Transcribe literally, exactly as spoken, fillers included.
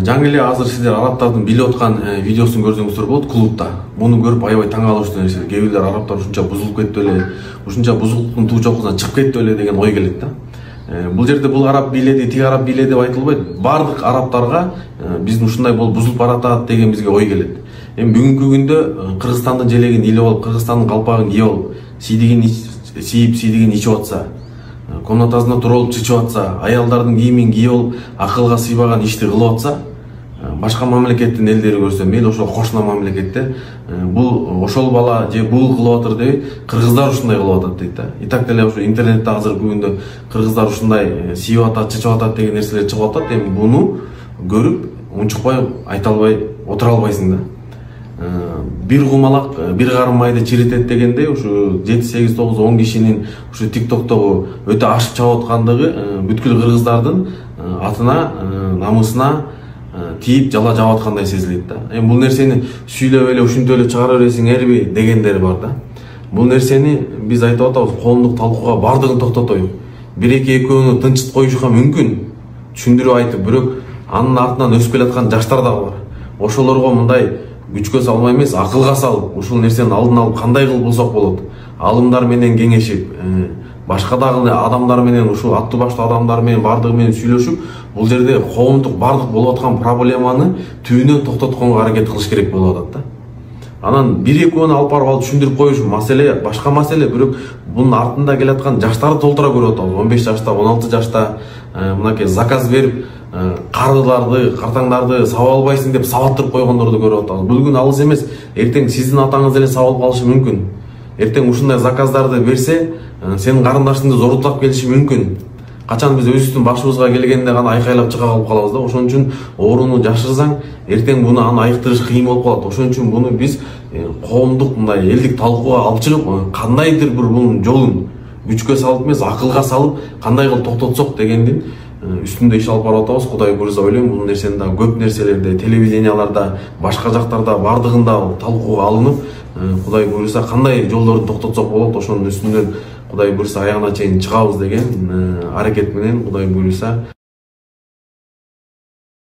Жаңы эле азыр сиздер арабтардын билип аткан видеосун көрсөңүздөр болот клубда. Муну көрүп аябай таң калыштуу нерсе. Кээ бирлер арабтар ушунча бузулуп кетти беле, ушунча бузулуктун туу чокусунан чыгып кетти беле деген ой келет да. Бул жерде бул араб бийледи, тиги араб бийледи деп айтылбайт. Бардык арабтарга биздин ушундай болуп бузулуп баратат деген бизге ой келет. Эми бүгүнкү күндө Кыргызстандын желегин илип алып, Кыргызстандын калпагын кийип алып, сийдигин сийип, сийдигин ичип атса, комнатасында турулуп чычып атса, аялдардын кийимин кийип алып, акылга сыйбаган ишти кылып атса, башка мамлекеттин элдери көрсө, мейли ошол кошуна мамлекеттер, бул ошол бала же бул кылып атыр деп, кыргыздар ушундай кылып атат дейт да. И так деле ошо интернетте азыркы күндө кыргыздар ушундай сийип атат, чычып атат деген нерселер чыгып атат. Эми буну көрүп, унчукпай айта албай отура албайсың да. Бир кумалак бир карым майды чиритет дегендей, ушу жети сегиз тогуз он кишинин ушу тиктоктогу өтө ашып чабып аткандыгы бүткүл кыргыздардын атына, намысына тийип жала жаап аткандай сезилет да. Эми бул нерсени сүйлөп эле ушинтип эле чыгара бересиңерби дегендер бар да. Бул нерсени биз айтып атабыз, коомдук талкууга бардыгын токтотоюк. Бир эки экөөнү тынчыт коюшка мүмкүн, түшүндүрүп айтып, бирок анын артынан өсүп келаткан жаштар дагы бар. Ошолорго мындай күчкө салмай эмес, акылга салып, ушул нерсенин алдын алып кандай кылып булсак болот, алымдар менен кеңешип, башка дагы адамдар менен, ушул аттуу баштуу адамдар менен бардыгы менен сүйлөшүп, бул жерде коомдук бардык болуп аткан проблеманы түбүнөн токтотконго аракет кылыш керек болуп атат да. Анан бир экөөнү алып барып алып түшүндүрүп коюш маселе, башка маселе, бирок бунун артында келаткан жаштарды толтура көрүп атабыз. он беш жашта, он алты жашта мынакей заказ берип, карыларды, картаңдарды сабап албайсың деп сабаттырып койгондорду көрүп атабыз. Бул күн алыс эмес, эртең сиздин атаңыз деле сабап калышы мүмкүн. Эртең ушундай заказдарды берсе, сенин карындашыңды зорутулап келиши мүмкүн. Качан биз өзүбүздүн башыбызга келгенде гана айкайлап чыга калып калабыз да. Ошон үчүн ооруну жашырсаң, эртең буну аны айыктырыш кыйын болуп калат. Ошон үчүн буну биз коомдук мындай элдик талкууга алып чыгып, кандайдыр бир бунун жолун күчкө салып эмес, акылга салып, кандай кылып токтотсок дегендин үстүндө иш алып барып атабыз. Кудай буйрса ойлойм, бул нерсени да көп нерселерде, телевиденияларда, башка жактарда бардыгында талкууга алынып, Кудай буйрса кандай жолдорду токтотсок болот, ошонун үстүнөн Кудай буйрса аягына чейин чыгабыз деген аракет менен, Кудай буйрса